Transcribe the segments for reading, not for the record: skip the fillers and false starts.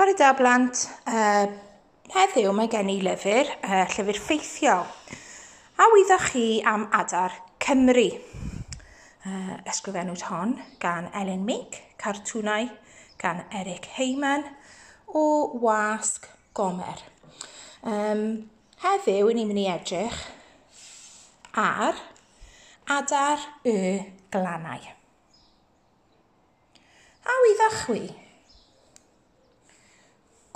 Bore da blant. Heddiw mae gen i lyfr, llyfr ffeithiol. A wyddoch chi am adar Cymru? Ysgrifennwyd hon gan Elin Meek, cartwnau gan Eric Heyman o Wasg Gomer. Heddiw, ni'n mynd i edrych ar adar y glannau. A wyddoch chwi?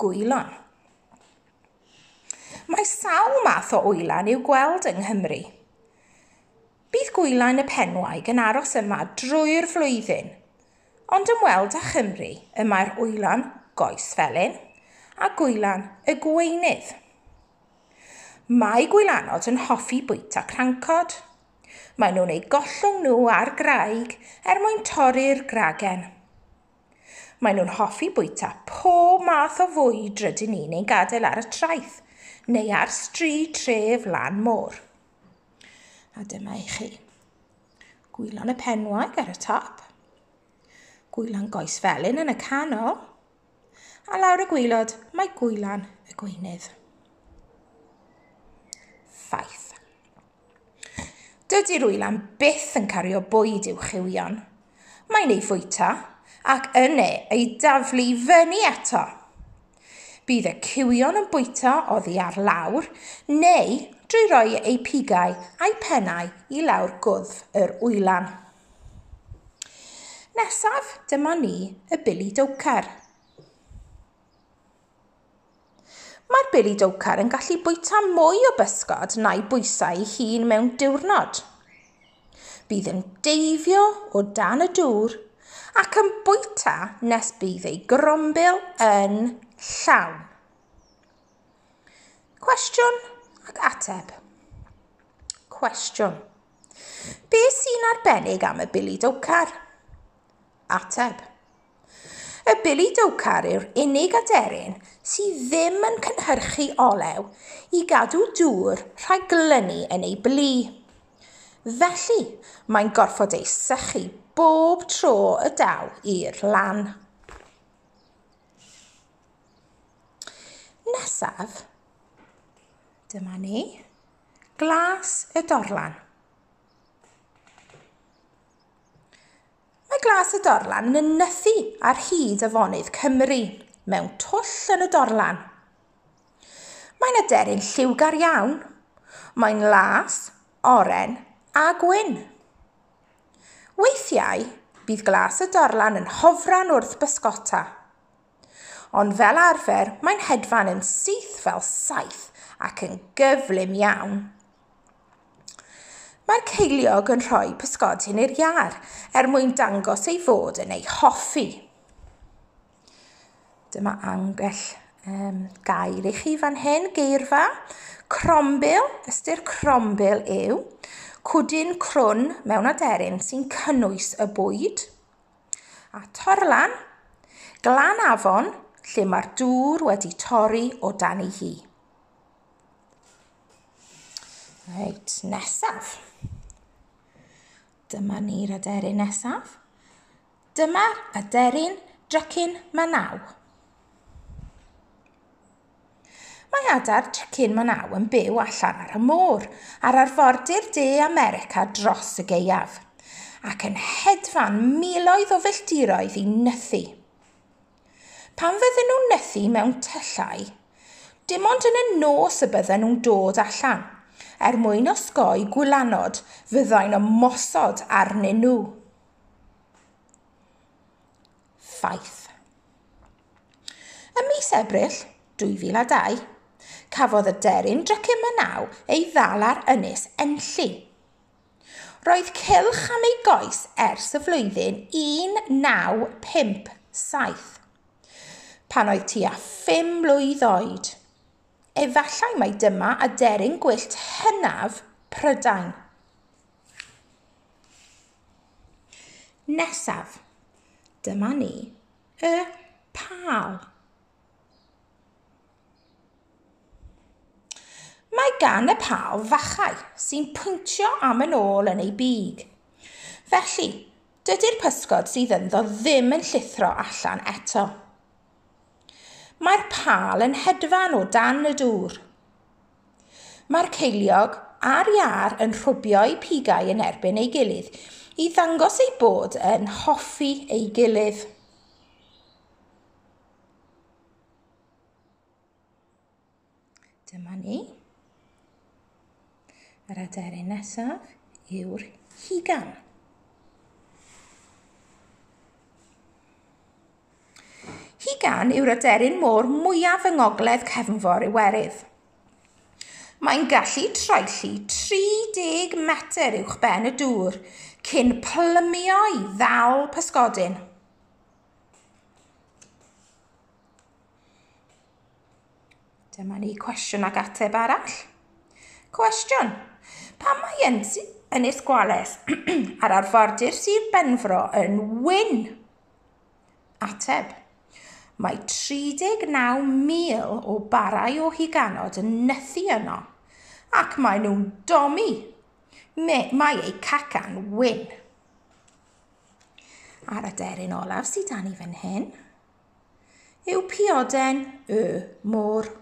Gwylan. Mae sawl math o wylan i'w gweld yng Nghymru. Bydd gwylan y penwaig yn aros yma drwy'r flwyddyn, ond ymweld â Chymru y mae'r wylan goes felyn a gwylan y gweinydd. Mae gwylanod yn hoffi bwyta crancod. Maen nhw'n eu gollwng nhw ar graig er mwyn torri'r gragen. Maen nhw'n hoffi bwyta pob math o fwyd rydyn ni'n ei gadael ar y traeth neu ar stryd tref lan môr. A dyma i chi. Gwylan y penwaig ar y top. Gwylan goes felyn yn y canol. A lawr y gwylod mae gwylan y gweinydd. Ffaith. Dydy'r wylan byth yn cario bwyd i'w chywion. Mae'n ei fwyta ac yna ei daflu fyny eto. Bydd y cywion yn bwyta oddi ar lawr neu drwy roi eu pigau a'u pennau i lawr gwddf yr wylan. Nesaf, dyma ni y Billy Dowcar. Mae'r Billy Dowcar yn gallu bwyta mwy o bysgod na'i bwysau ei hun mewn diwrnod. Bydd yn deifio o dan y dŵr ac yn bwyta nes bydd ei grombil yn llawn. Cwestiwn ac ateb. Cwestiwn. Be sy'n arbennig am y Billy Dowcar? Ateb. Y Billy Dowcar yw'r unig aderyn sydd ddim yn cynhyrchu olew i gadw dŵr rhag glynu yn ei blu. Felly, mae'n gorfod ei sychu bob tro y daw i'r lan. Nesaf, dyma ni, glas y dorlan. Mae glas y dorlan yn nythu ar hyd afonydd Cymru, mewn twll yn y dorlan. Mae'n aderyn lliwgar iawn. Mae'n las, oren a gwyn. Weithiau, bydd glas y dorlan yn hofran wrth bysgota. Ond fel arfer, mae'n hedfan yn syth fel saeth ac yn gyflym iawn. Mae'r ceiliog yn rhoi pysgodyn i'r iâr er mwyn dangos ei fod yn ei hoffi. Dyma ambell gair i chi fan hyn, geirfa. Crombil, ystyr crombil yw cwdyn crwn mewn aderyn sy'n cynnwys y bwyd. A torlan, glan afon lle mae'r dŵr wedi torri o dan ei hi. Reit, nesaf. Dyma ni'r aderyn nesaf. Dyma'r aderyn drycin Manaw. Mae adar drycin Manaw yn byw allan ar y môr, ar arfordir De America dros y gaeaf, ac yn hedfan miloedd o filltiroedd i nythu. Pan fydden nhw'n nythu mewn tyllau, dim ond yn y nos y bydden nhw'n dod allan, er mwyn osgoi gwylanod fyddai'n ymosod arnyn nhw. Ffaith. Ym mis Ebrill 2002, cafodd y deryn drycin Manaw ei ddal ar Ynys Enlli. Roedd cylch am ei goes ers y flwyddyn 1957, pan oedd tua 5 mlwydd oed. Efallai mai dyma aderyn gwyllt hynaf Prydain. Nesaf, dyma ni y pâl. Mae gan y pâl fachau sy'n pwyntio am yn ôl yn ei big. Felly, dydy'r pysgod sydd ynddo ddim yn llithro allan eto. Mae'r pâl yn hedfan o dan y dŵr. Mae'r ceiliog a'r iâr yn rhwbio eu pigau yn erbyn ei gilydd i ddangos eu bod yn hoffi ei gilydd. Dyma ni. Yr aderyn nesaf yw'r hugan. Hugan yw'r aderyn môr mwyaf yng ngogledd cefnfor Iwerydd. Mae'n gallu troelli 30 metr uwch ben y dŵr cyn plymio i ddal pysgodyn. Dyma ni cwestiwn ac ateb arall. Cwestiwn. Pam mae Ynys Gwales ar arfordir Sir Benfro yn wyn? Ateb. Mae 39,000 o barau o huganod yn nythu yno, ac maen nhw'n domi. Mae eu cacan wyn. A'r aderyn olaf sydd dan i fan hyn yw pioden y môr.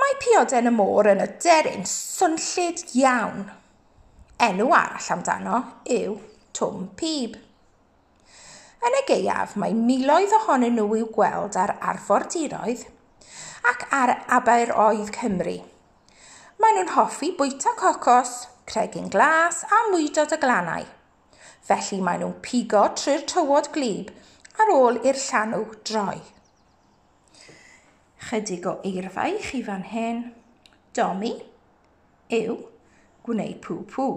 Mae pioden y môr yn aderyn swnllyd iawn. Enw arall amdano yw Twm Pib. Yn y gaeaf, mae miloedd ohonyn nhw i'w gweld ar arfordiroedd ac ar aberoedd Cymru. Maen nhw'n hoffi bwyta cocos, cregyn glas a mwydod y glannau. Felly maen nhw'n pigo trwy'r tywod gwlyb ar ôl i'r llanw droi. Chydig o eirfa i chi fan hyn. Domi yw gwneud pw pw.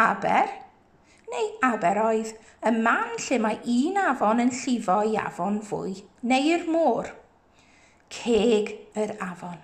Aber neu aberoedd, y man lle mae un afon yn llifo i afon fwy, neu'r môr. Ceg yr afon.